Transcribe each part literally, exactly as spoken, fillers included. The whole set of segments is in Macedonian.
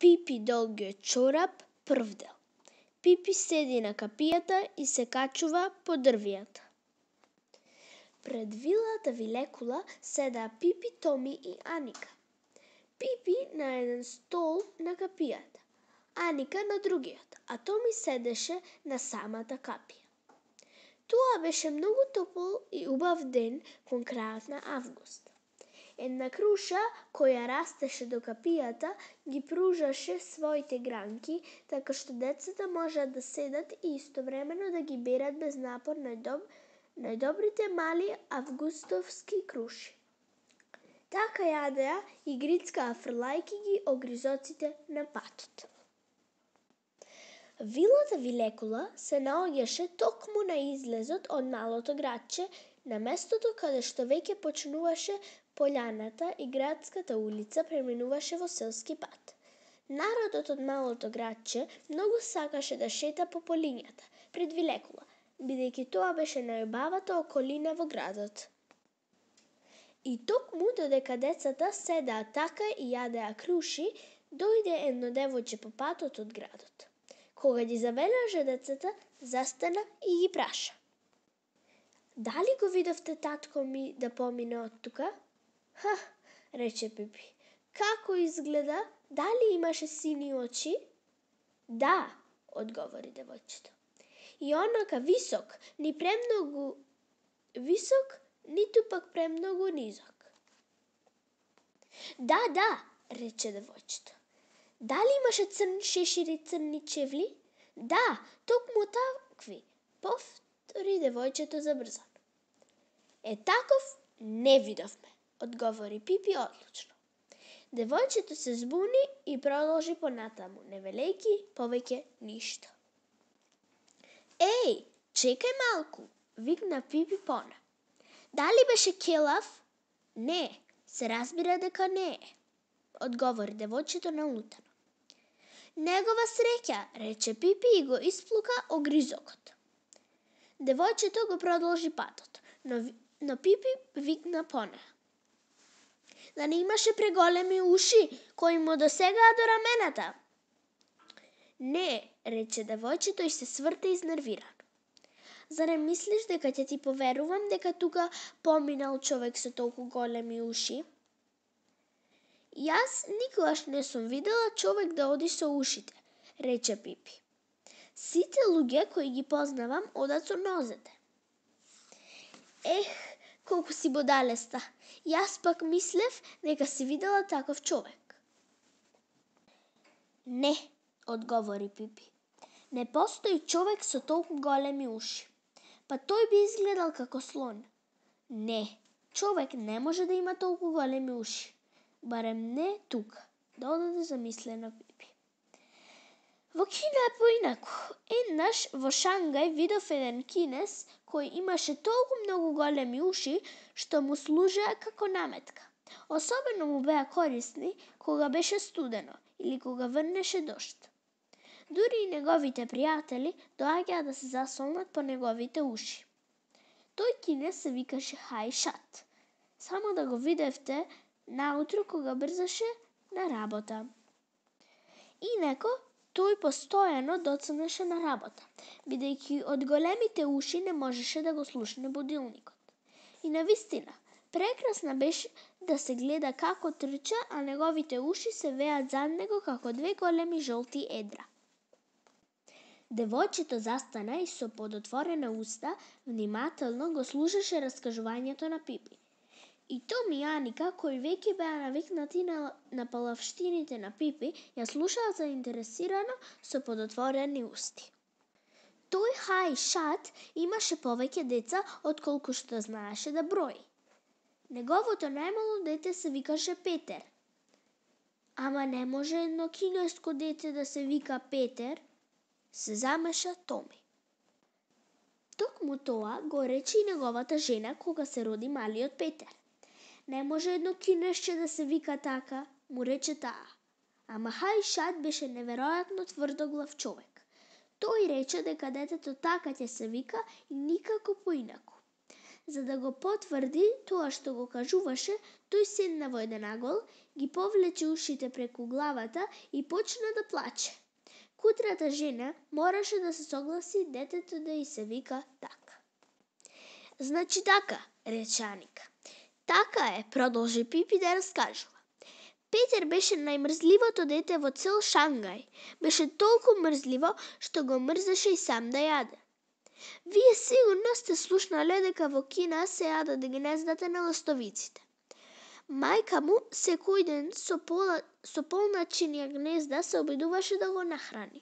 Пипи долгиот чорап, прв дел. Пипи седи на капијата и се качува по дрвијата. Пред вилата Вилекула седаа Пипи, Томи и Аника. Пипи на еден стол на капијата, Аника на другиот, а Томи седеше на самата капија. Тоа беше многу топол и убав ден кон крајот на август. Една круша која растеше до капијата ги пружаше своите гранки, така што децата можеа да седат и истовремено да ги берат без напор најдоб... најдобрите мали августовски круши. Така јадеа и грицкаа фрлајки ги огризоците на патот. Вилата Вилекула се наоѓаше токму на излезот од малото градче, на местото каде што веќе почнуваше полјаната и градската улица преминуваше во селски пат. Народот од малото градче многу сакаше да шета по полињата пред Вилекула, бидејќи тоа беше најубавата околина во градот. И токму додека децата седеа така и јадеа круши, дојде едно девојче по патот од градот. Кога ги забележа децата, застана и ги праша: "Дали го видовте татко ми да помине од тука?" "Ха," рече Пипи. "Како изгледа? Дали имаше сини очи?" "Да," одговори девојчето. "И онака висок, ни премногу висок, ниту пак премногу низок." "Да, да," рече девојчето. "Дали имаше црн шешир и црни чевли?" "Да, токму такви," повтори девојчето забрзано. "Е, таков не видовме," одговори Пипи одлучно. Девојчето се збуни и продолжи понатаму, не велејќи повеќе ништо. "Еј, чекај малку," викна Пипи пона. "Дали беше келав?" "Не, се разбира дека не е," одговори девојчето налутано. "Негова среќа," рече Пипи и го исплука огризокот. Девојчето го продолжи патот, но, но Пипи викна понеа: "Да не имаше преголеми уши кои му досегаа до рамената?" "Не," рече девојчето и се сврте изнервирано. "Зарем мислиш дека ќе ти поверувам дека тука поминал човек со толку големи уши?" "Јас никогаш не сум видела човек да оди со ушите," рече Пипи. "Сите луѓе кои ги познавам одат со нозете." "Ех, колку си будалеста, јас пак мислев дека си видела таков човек." "Не," одговори Пипи. "Не постои човек со толку големи уши. Па тој би изгледал како слон." "Не, човек не може да има толку големи уши. Барем не тука," додаде замислено Пипи. "Во Кина е поинаку. Еднаш во Шангај видов еден кинез кој имаше толку многу големи уши што му служеа како наметка. Особено му беа корисни кога беше студено или кога врнеше дожд. Дури и неговите пријатели доаѓаа да се засолнат по неговите уши. Тој кинез се викаше Хајшат. Само да го видевте наутро кога брзаше на работа. Инако, тој постојано доцнеше на работа, бидејќи од големите уши не можеше да го слушне будилникот. И навистина, прекрасна беше да се гледа како трча, а неговите уши се веат зад него како две големи жолти едра." Девојчето застана и со подотворена уста внимателно го слушаше раскажувањето на Пипи. И Томи и Аника, кои веќе беа навикнати на, на палавштините на Пипи, ја слушаа заинтересирано со подотворени усти. Тој Хајшат имаше повеќе деца отколку што знаеше да брои. Неговото најмало дете се викаше Петер. "Ама не може едно кинеско дете да се вика Петер?" се замеша Томи. Токму тоа го рече и неговата жена кога се роди малиот Петер. "Не може едно кинесче да се вика така," му рече таа. Ама Хајшат беше неверојатно тврдоглав човек. Тој рече дека детето така ќе се вика и никако поинаку. За да го потврди тоа што го кажуваше, тој седна во еден агол, ги повлече ушите преку главата и почна да плаче. Кутрата жена мораше да се согласи детето да и се вика така. Значи така, рече Аника. Така е, продолжи Пипи да раскажува. Петер беше најмрзливото дете во цел Шангај. Беше толку мрзливо што го мрзеше и сам да јаде. Вие сигурно сте слушнале дека во Кина се јадат гнездата на ластовиците. Мајка му секој ден со, пола, со полначинија гнезда се обидуваше да го нахрани.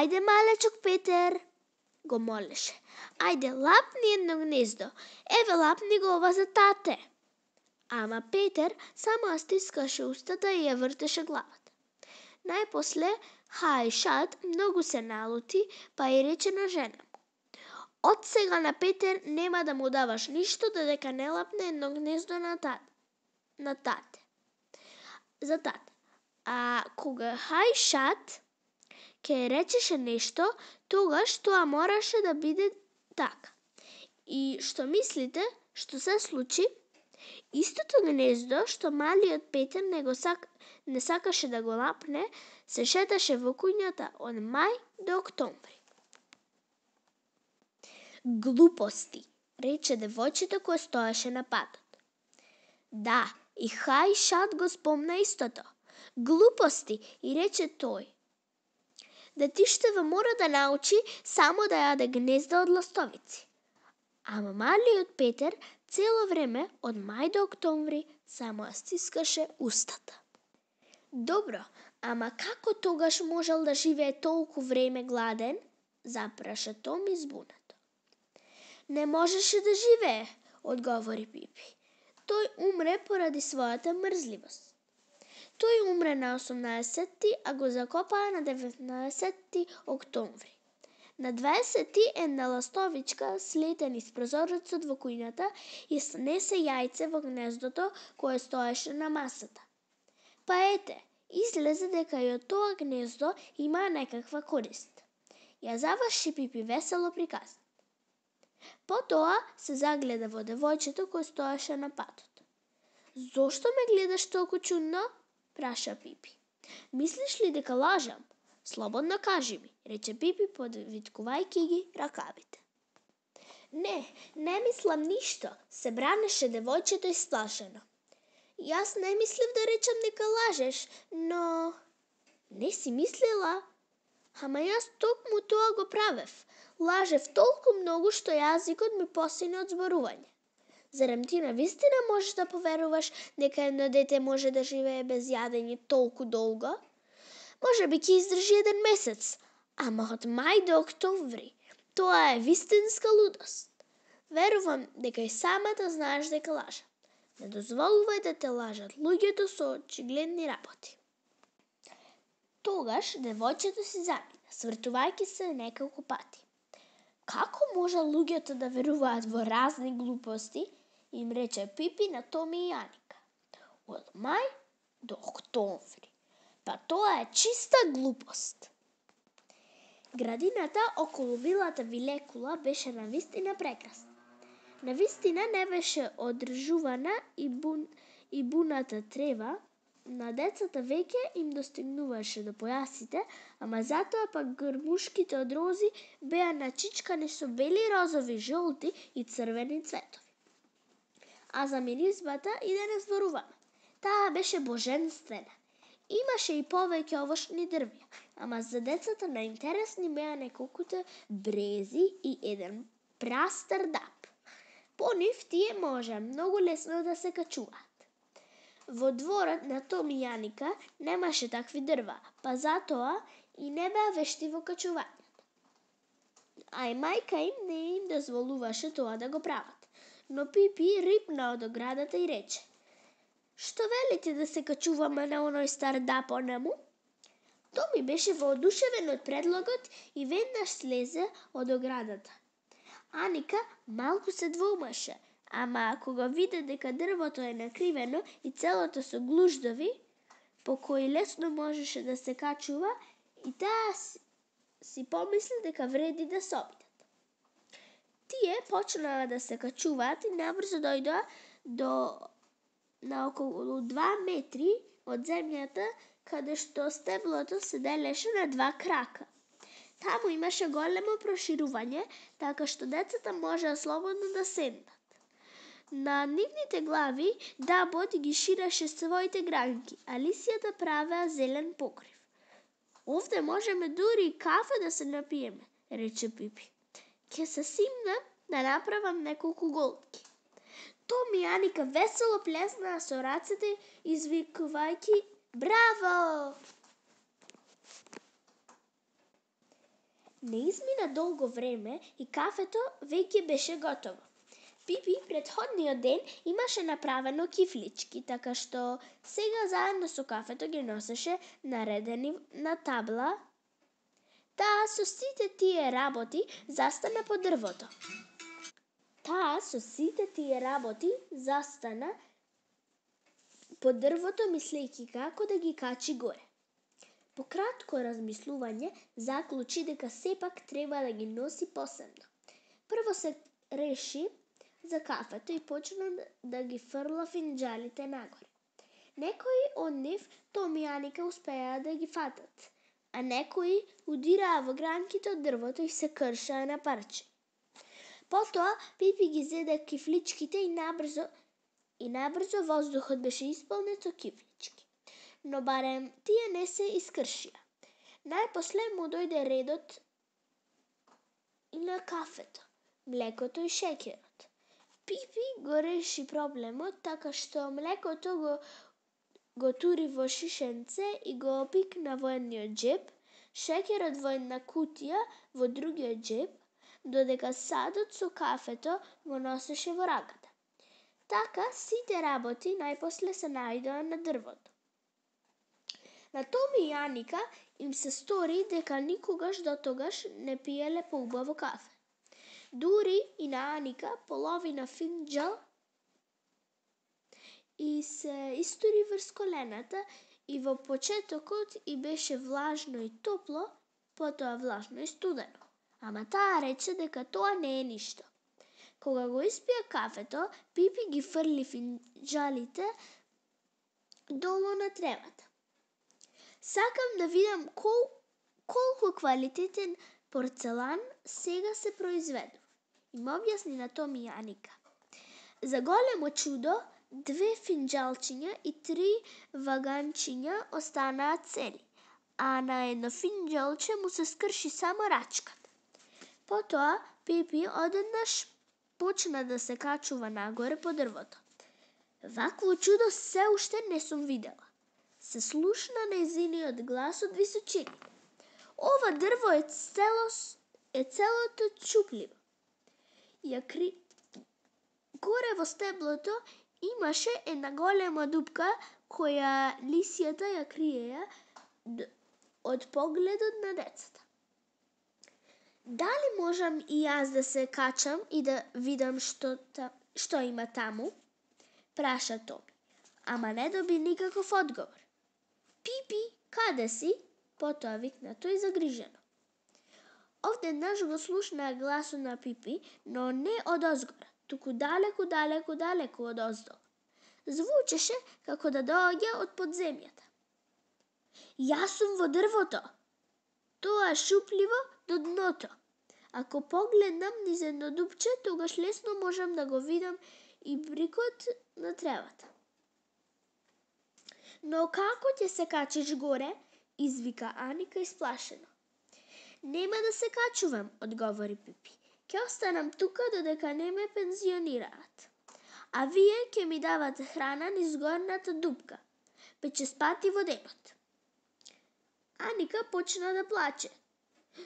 Ајде, малечок Петер, го молеше. Ајде, лапни едно гнездо. Еве, лапни го ова за тате. Ама Петер само ја стискаше устата и ја вртеше главата. Најпосле Хајшат многу се налути, па и рече на жена му. Од сега на Петер нема да му даваш ништо додека не лапне едно гнездо на тате. На тате. За тате. А кога Хајшат ке речеше нешто, тогаш тоа мораше да биде така. И што мислите, што се случи? Истото гнездо што малиот Петер не го сак... не сакаше да го лапне, се шеташе во кујната од мај до октомври. Глупости, рече девојчето кое стоеше на патот. Да, и Хајшат го спомна истото. Глупости, и рече тој. Детиштево мора да научи само да јаде гнезда од ластовици. Ама малиот Петер цело време од мај до октомври само ја стискаше устата. Добро, ама како тогаш можел да живее толку време гладен? Запраша Томи збунато. Не можеше да живее, одговори Пипи. Тој умре поради својата мрзливост. Тој умре на осумнаесетти, а го закопаа на деветнаесетти октомври. На дваесетти една ластовичка слете низ прозорецот во кујната и снесе јајце во гнездото кое стоеше на масата. Па ете, излезе дека и од тоа гнездо има некаква корист. Ја заврши Пипи весело приказна. Потоа се загледа во девојчето кое стоеше на патот. Зошто ме гледаш толку чудно? Праша Пипи. Мислиш ли дека лажам? Слободно кажи ми, рече Пипи подвиткувајќи ги ракавите. Не, не мислам ништо, се бранеше девојчето исплашено. Јас не мислев да речам дека лажеш, но... Не си мислила? Ама јас токму тоа го правев. Лажев толку многу што јазикот ми посине од зборување. Зарем ти навистина можеш да поверуваш дека едно дете може да живее без јадење толку долго? Може би ќе издржи еден месец, ама од мај до октомври. Тоа е вистинска лудост. Верувам дека и самата знаеш дека лажам. Не дозволувај да те лажат луѓето со очигледни работи. Тогаш девојчето си замина, свртувајќи се неколку пати. Како може луѓето да веруваат во разни глупости, им рече Пипи на Томи и Аника. Од мај до октомври. Па тоа е чиста глупост. Градината околу вилата Вилекула беше навистина прекрасна. Навистина не беше одржувана и, бун, и буната трева, на децата веќе им достигнуваше до појасите, ама затоа пак грмушките од рози беа начичкани со бели, розови, жолти и црвени цветови. А за миризбата и да не зборуваме. Таа беше божествена. Имаше и повеќе овошни дрвја, ама за децата најинтересни беа неколкуте брези и еден прастар дап. По нив тие може многу лесно да се качуваат. Во дворот на Томи и Аника немаше такви дрва, па затоа и не беа вешти во качувањето. А и мајка им не им дозволуваше тоа да го прават. Но Пипи рипна од оградата и рече: Што велите да се качуваме на оној стар дап онаму? Томи беше воодушевен од предлогот и веднаш слезе од оградата. Аника малку се двоумаше, ама кога виде дека дрвото е накривено и целото со глуждови, по кои лесно можеше да се качува, и таа си помисли дека вреди да се обидат. Тие почнаа да се качуваат и набрзо дојдоа до на околу два метри од земјата, каде што стеблото се делеше на два крака. Таму имаше големо проширување, така што децата можеа слободно да седнат. На нивните глави дабот ги ширеше своите гранки, а лисијата правеа зелен покрив. Овде можеме дури и кафе да се напиеме, рече Пипи. Ке се симнам да направам неколку голтки. Том и Аника весело плеснаа со рацете, извикувајќи браво! Не измина долго време и кафето веќе беше готово. Пипи претходниот ден имаше направено кифлички, така што сега заедно со кафето ги носеше наредени на табла. Таа со сите тие работи застана по дрвото. Таа со сите тие работи застана по дрвото, мислејќи како да ги качи горе. По кратко размислување, заклучи дека сепак треба да ги носи посебно. Прво се реши за кафето и почна да ги фрла финџалите нагоре. Некои од нив Том и Аника успеа да ги фатат, а некои удираа во гранките од дрвото и се кршаа на парче. Потоа Пипи ги зеде кифличките и набрзо и набрзо воздухот беше исполнет со кифлички. Но барем тие не се искршија. Најпосле му дојде редот и на кафето, млекото и шеќерот. Пипи го реши проблемот така што млекото го го тури во шишенце и го опикна во едниот џеб, шеќерот во една кутија во другиот џеб, додека садот со кафето го носеше во раката. Така сите работи најпосле се најдоа на дрвото. На Томи и Аника им се стори дека никогаш до тогаш не пиеле поубаво кафе. Дури и на Аника половина финџал и се истори врз колената и во почетокот и беше влажно и топло, потоа влажно и студено. Ама таа рече дека тоа не е ништо. Кога го испија кафето, Пипи ги фрли финџалите долу на тревата. Сакам да видам кол, колку квалитетен порцелан сега се произведува, им објасни на Том и Аника. За големо чудо, две финџалчиња и три ваганчиња останаа цели, а на едно финџалче му се скрши само рачката. Потоа Пипи одеднаш почна да се качува нагоре по дрвото. Вакво чудо се уште не сум видела. Се слушна нејзиниот глас од височини. Ова дрво е цело е целото чупливо. Ја кри... Горе во стеблото имаше една голема дупка која лисијата ја криеја од погледот на децата. Дали можам и јас да се качам и да видам што, та, што има таму? Праша Томи, ама не доби никаков одговор. Пипи, каде си? Потоа викна тој загрижено. Овденаш го слушнаа гласот на Пипи, но не од озгора, туку далеку, далеку, далеку од оздол. Звучеше како да доаѓа од подземјата. Јас сум во дрвото. Тоа е шупливо до дното. Ако погледнам низ едно дупче, тогаш лесно можам да го видам и брикот на тревата. Но како ќе се качиш горе? Извика Аника исплашено. Нема да се качувам, одговори Пипи. Ќе останам тука додека не ме пензионираат. А вие ќе ми давате храна низ горната дупка, па ќе спати во денот. Аника почна да плаче.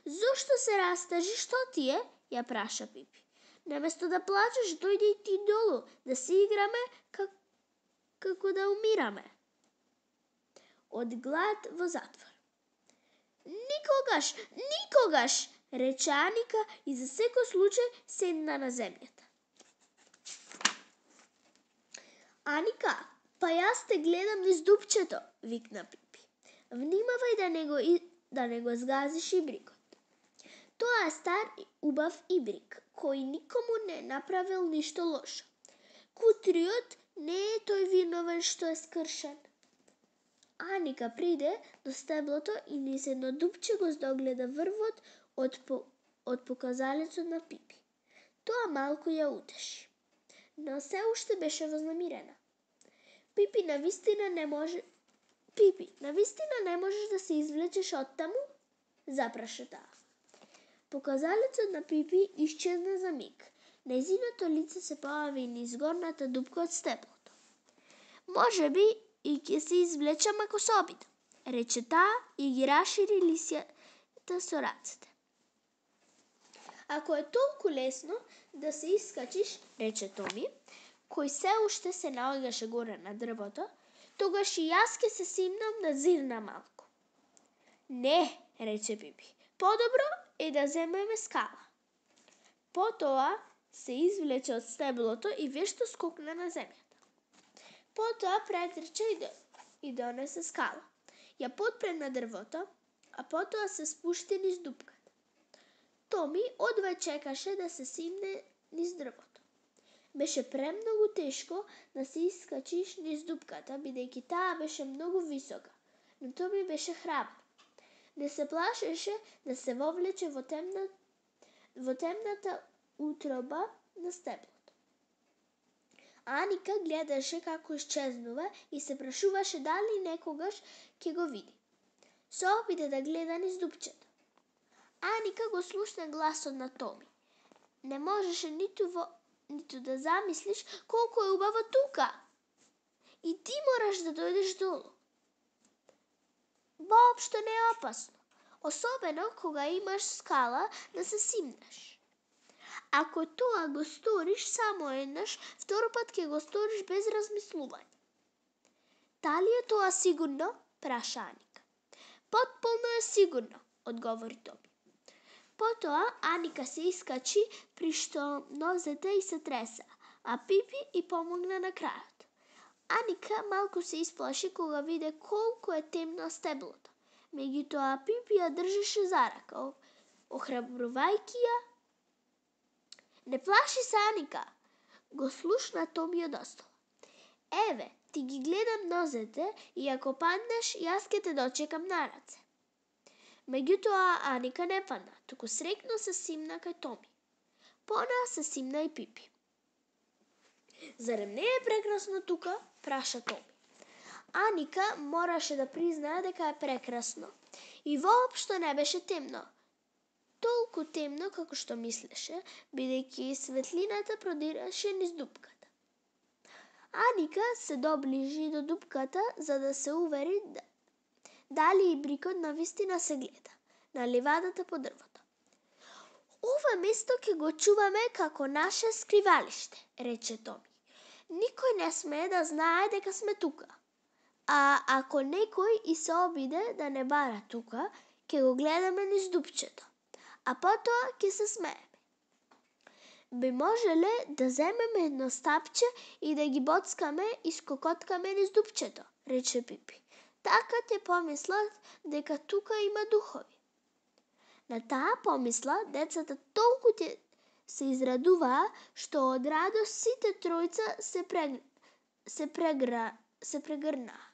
Зошто се растажи, што ти е? Ја праша Пипи. Наместо да плачеш, дојди и ти долу, да си играме как... како да умираме. Од глад во затвор. Никогаш, никогаш, рече Аника и за секој случај седна на земјата. Аника, па јас те гледам низ дупчето, викна Пипи. Внимавај да не го, да не го згазиш и брикот. Тоа е стар и убав ибрик, кој никому не направил ништо лошо. Кутриот не е тој виновен што е скршен. Аника приде до стеблото и низ едно дупче го здогледа врвот од, по, од показалецот на Пипи. Тоа малку ја утеши, но се уште беше вознемирена. Пипи, навистина не може... Пипи, навистина не можеш да се извлечеш од таму? Запраша таа. Показалецот на Пипи исчезна за миг. Нејзиното лице се појави низ горната дупка од стеблото. Може би и ќе се извлечам ако се обидам, рече таа и ги расшири лисјата со рацете. Ако е толку лесно да се искачиш, рече Томи, кој се уште се наоѓаше горе на дрвото, тогаш и јас ќе се симнам да зирна малку. Не, рече Пипи, подобро е да земеме скала. Потоа се извлече од стеблото и вешто скокна на земјата. Потоа претрча и, и донесе скала. Ја потпре на дрвото, а потоа се спушти низ дупката. Томи одвај чекаше да се симне низ дрвото. Беше премногу тешко да се искачиш низ дупката, бидејќи таа беше многу висока, но Томи беше храбар. Не се плашеше да се вовлече во, темна, во темната утроба на стеблото. Аника гледаше како исчезнува и се прашуваше дали некогаш ќе го види. Се опита да гледа низ дупчето. Аника го слушна гласот на Томи. Не можеше ниту, во, ниту да замислиш колку е убаво тука. И ти мораш да дојдеш долу. Воопшто не е опасно, особено кога имаш скала да се симнеш. Ако тоа го сториш само еднаш, втор пат ќе го сториш без размислување. Дали е тоа сигурно? Праша Аника. Потполно е сигурно, одговори Томи. Потоа Аника се искачи при што нозете и се треса, а Пипи и помогна на крајот. Аника малку се исплаши кога виде колку е темно стеблото. Меѓутоа Пипи ја држеше за рака, охрабрувајќи ја. Не плаши се, Аника, го слушна Томи од остола. Еве, ти ги гледам нозете и ако паднеш, јас ќе те дочекам на раце. Меѓутоа Аника не падна, туку срекно се симна кај Томи. Понаа се симна и Пипи. Зарем не е прекрасно тука? Праша Томи. Аника мораше да признае дека е прекрасно. И воопшто не беше темно. Толку темно како што мислеше, бидејќи светлината продираше низ дупката. Аника се доближи до дупката за да се увери да, дали ибрикот навистина се гледа на ливадата по дрвото. Ова место ќе го чуваме како наше скривалиште, рече Томи. Никој не смее да знае дека сме тука. А ако некој и се обиде да не бара тука, ќе го гледаме низ дупчето, а потоа ќе се смееме. Би можеле да земеме едно стапче и да ги боцкаме и скокоткаме низ дупчето, рече Пипи. Така ќе помислат дека тука има духови. На таа помисла децата толку ќе се израдуваа што од радост сите тројца се прег... се прегра... се прегрнаа.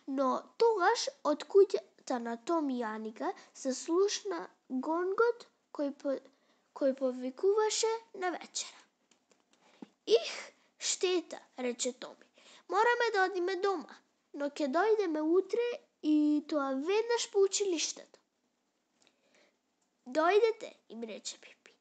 Но тогаш од куќата на Томи и Аника се слушна гонгот кој по... кој повикуваше на вечера. Их, штета, рече Томи. Мораме да одиме дома, но ќе дојдеме утре и тоа веднаш по училиштето. Дојдете, им рече Пипи.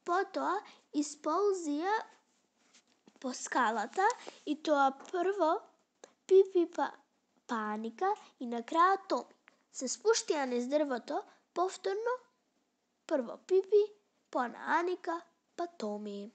Потоа исползија по скалата и тоа прво Пипи па, па Аника и на крајот Томи. Се спуштија низ дрвото, повторно прво Пипи, па на Аника, па Томи.